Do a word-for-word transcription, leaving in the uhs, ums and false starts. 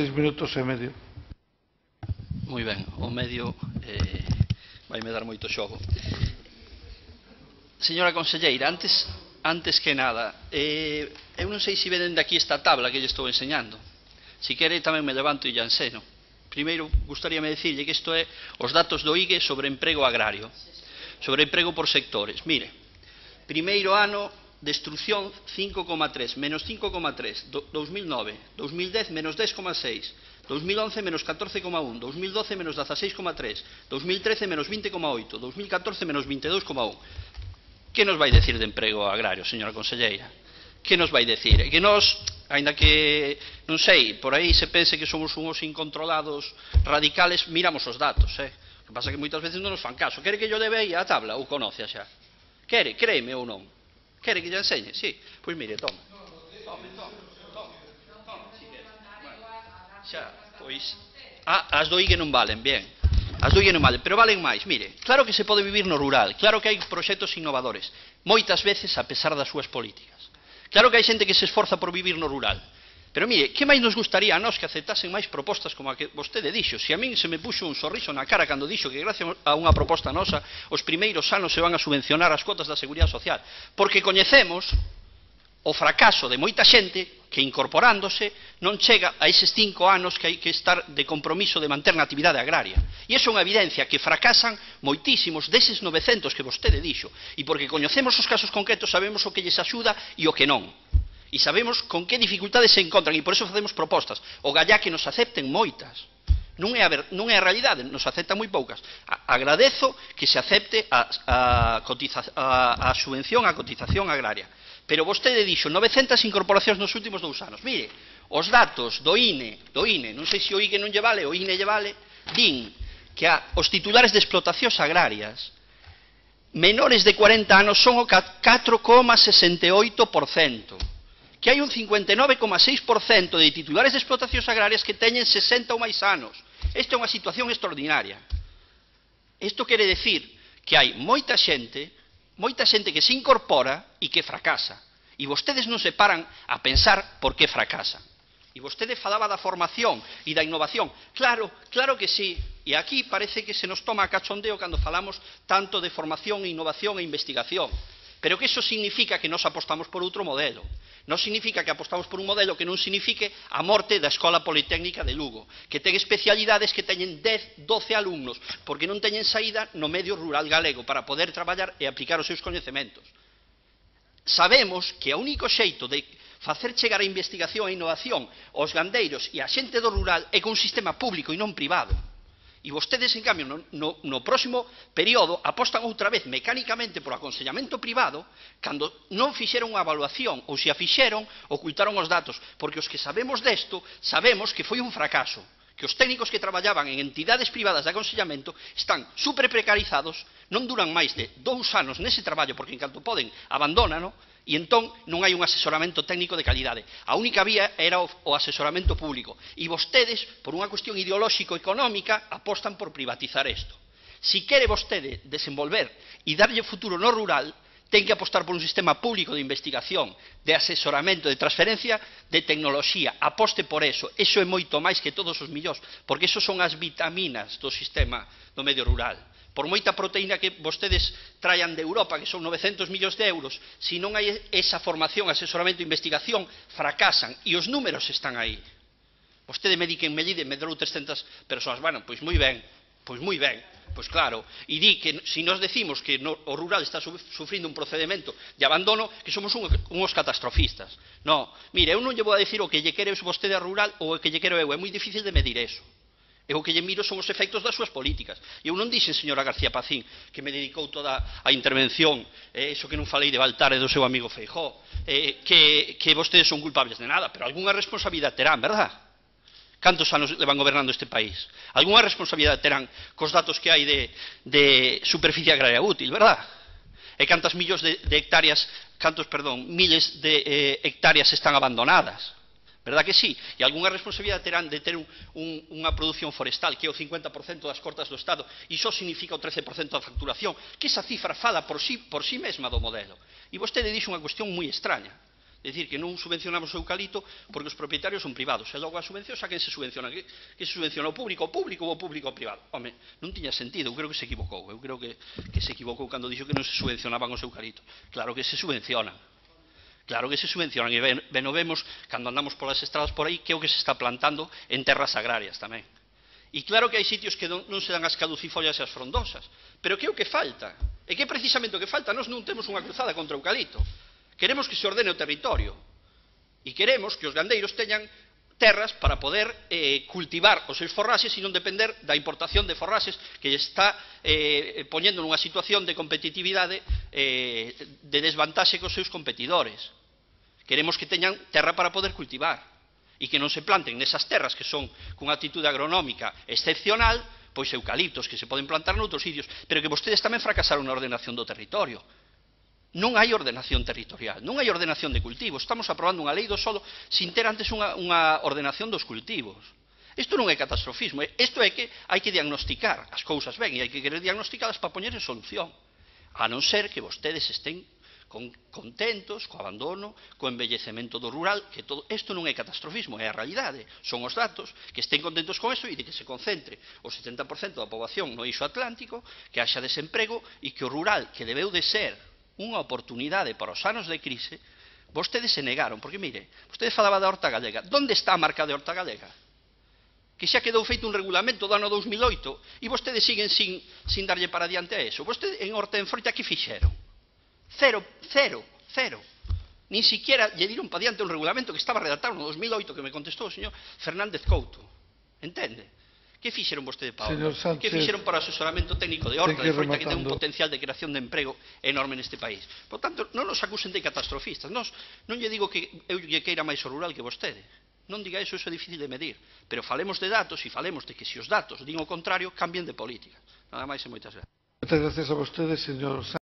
Seis minutos e medio. Moi ben, o medio eh, vai me dar moito xogo. Señora conselleira, antes, antes que nada, eh, eu non sei se veden de aquí esta tabla que lle estou enseñando. Si quere tamén me levanto e lle enseno. Primeiro, gustaríame decirlle que isto é os datos do I G E sobre emprego agrario, sobre emprego por sectores. Mire, primeiro ano, destrucción cinco coma tres, menos cinco coma tres, dos mil nove, dos mil dez menos dez coma seis, dos mil once menos catorce coma un, dos mil doce menos dieciséis coma tres, dos mil trece menos veinte coma oito, dos mil catorce menos veintidós coma un. Que nos vai decir de emprego agrario, señora conselleira? Que nos vai decir? Que nos, ainda que, non sei, por aí se pense que somos uns incontrolados radicales, miramos os datos, eh? O que pasa que moitas veces non nos fan caso. Quere que yo debe aí a tabla ou conoce xa? Quere, créeme ou non? Quere que lle enseñe? Sí. Pois mire, toma. Tome, tome, tome, tome, si quere. Bueno, xa, pois, ah, as do I G E non valen, bien. As do I G E non valen, pero valen máis. Mire, claro que se pode vivir no rural, claro que hai proxectos innovadores, moitas veces a pesar das súas políticas. Claro que hai xente que se esforza por vivir no rural. Pero mire, que máis nos gustaría a nós que aceptasen máis propostas como a que vostede dixo? Se a min se me puxo un sorriso na cara cando dixo que gracias a unha proposta nosa os primeiros anos se van a subvencionar as cotas da Seguridade Social, porque coñecemos o fracaso de moita xente que incorporándose non chega a eses cinco anos que hai que estar de compromiso de manter na actividade agraria. E iso é unha evidencia que fracasan moitísimos deses novecentos que vostede dixo, e porque coñecemos os casos concretos sabemos o que lles axuda e o que non. E sabemos con que dificultades se encontran e por eso facemos propostas. O gallá que nos acepten moitas. Non é a, ver, non é a realidade, nos aceptan moi poucas. A, agradezo que se acepte a, a, cotiza, a, a subvención a cotización agraria. Pero vostede dixo novecentas incorporacións nos últimos dous anos. Mire, os datos do I N E, do I N E, non sei se o I G E non lle vale, o I N E lle vale, din que a, os titulares de explotacións agrarias menores de cuarenta anos son o catro coma sesenta e oito por cento. Que hai un cincuenta e nove coma seis por cento de titulares de explotacións agrarias que teñen sesenta ou máis anos. Esta é unha situación extraordinaria. Isto quere decir que hai moita xente, moita xente que se incorpora e que fracasa. E vostedes non se paran a pensar por que fracasan. E vostede falaba da formación e da innovación. Claro, claro que sí. E aquí parece que se nos toma a cachondeo cando falamos tanto de formación, innovación e investigación. Pero que iso significa que nos apostamos por outro modelo. Non significa que apostamos por un modelo que non signifique a morte da Escola Politécnica de Lugo, que ten especialidades que teñen dez, doce alumnos, porque non teñen saída no medio rural galego para poder traballar e aplicar os seus coñecementos. Sabemos que o único xeito de facer chegar a investigación e a innovación aos gandeiros e a xente do rural é con un sistema público e non privado. E vostedes, en cambio, no, no, no próximo período apostan outra vez mecánicamente por aconsellamento privado cando non fixeron unha evaluación ou se a fixeron, ocultaron os datos, porque os que sabemos desto sabemos que foi un fracaso, que os técnicos que traballaban en entidades privadas de aconsellamento están super precarizados, non duran máis de dous anos nese traballo porque en canto poden abandónano, e entón non hai un asesoramento técnico de calidade. A única vía era o, o asesoramento público. E vostedes, por unha cuestión ideolóxico-económica, apostan por privatizar isto. Si quere vostede desenvolver e darlle futuro no rural, ten que apostar por un sistema público de investigación, de asesoramento, de transferencia de tecnoloxía. Aposte por eso. Eso é moito máis que todos os millóns, porque eso son as vitaminas do sistema do medio rural. Por moita proteína que vostedes traian de Europa, que son novecentos millóns de euros, se non hai esa formación, asesoramento e investigación, fracasan. E os números están aí. Vostede me di que en Mellide medrou trescentas persoas. Bueno, pois moi ben, pois moi ben, pois claro. E di que se nos decimos que no, o rural está sufrindo un procedimento de abandono, que somos un, uns catastrofistas. No, mire, eu non lle vou a decir o que lle quere vostede a rural ou o que lle quero eu. É moi difícil de medir eso. E o que lle miro son os efectos das súas políticas. E eu non dixen, señora García Pacín, que me dedicou toda a intervención, eh, eso que non falei de Baltar e do seu amigo Feijóo, eh, que, que vostedes son culpables de nada, pero algunha responsabilidade terán, verdad? Cantos anos levan gobernando este país? Algunha responsabilidade terán cos datos que hai de, de superficie agraria útil, verdad? E cantas millóns de, de hectáreas, cantos, perdón, miles de eh, hectáreas están abandonadas? Verdad que sí? E algunha responsabilidade terán de ter un, un, unha produción forestal que é o cincuenta por cento das cortas do Estado e iso significa o trece por cento da facturación, que esa cifra fala por sí, por sí mesma do modelo. E vostede dixo unha cuestión moi extraña. É dicir, que non subvencionamos o eucalipto porque os propietarios son privados. E logo a subvención, xa quen se subvenciona? Que, que se subvenciona o público, o público ou o público o privado? Home, non tiña sentido, eu creo que se equivocou. Eu creo que, que se equivocou cando dixo que non se subvencionaban os eucaliptos. Claro que se subvencionan. Claro que se subvencionan. E ben, ben o vemos cando andamos polas estradas por aí, que é o que se está plantando en terras agrarias tamén. E claro que hai sitios que non, non se dan as caducifollas e as frondosas. Pero que é o que falta? E que é precisamente o que falta? Nós non temos unha cruzada contra o eucalipto. Queremos que se ordene o territorio e queremos que os gandeiros teñan terras para poder eh, cultivar os seus forraxes e non depender da importación de forraxes que está eh, poñendo nunha situación de competitividade eh, de desvantaxe cos seus competidores. Queremos que teñan terra para poder cultivar e que non se planten nesas terras que son cunha actitude agronómica excepcional, pois eucaliptos que se poden plantar noutros sitios, pero que vostedes tamén fracasaron na ordenación do territorio. Non hai ordenación territorial, non hai ordenación de cultivos. Estamos aprobando unha lei do solo sin ter antes unha, unha ordenación dos cultivos. Isto non é catastrofismo, isto é que hai que diagnosticar as cousas ben e hai que querer diagnosticalas para poñer en solución. A non ser que vostedes estén con, contentos co abandono, co envellecemento do rural, que todo isto non é catastrofismo, é a realidade. Son os datos, que estén contentos con isto e de que se concentre o setenta por cento da poboación no eixo atlántico, que haxa desemprego e que o rural, que debeu de ser unha oportunidade para os anos de crise, vostedes se negaron, porque mire, vostede falaba da horta galega. Onde está a marca de horta galega? Que xa quedou feito un regulamento do ano dous mil oito e vostedes siguen sin, sin darlle para diante a eso. Vostedes en horta en froita que fixeron? Cero, cero, cero. Nin siquiera lle diron para diante un regulamento que estaba redactado no dos mil oito que me contestou o señor Fernández Couto. Entende? Que fixeron vostede para horta? Que fixeron para o asesoramento técnico de horta, de froita, que ten un potencial de creación de emprego enorme neste país? Por tanto, non nos acusen de catastrofistas. Nos, non lle digo que eu lle queira máis o rural que vostede. Non diga eso, eso é difícil de medir. Pero falemos de datos e falemos de que se os datos din o contrario, cambien de política. Nada máis e moitas gracias. Moitas gracias a vostede, señor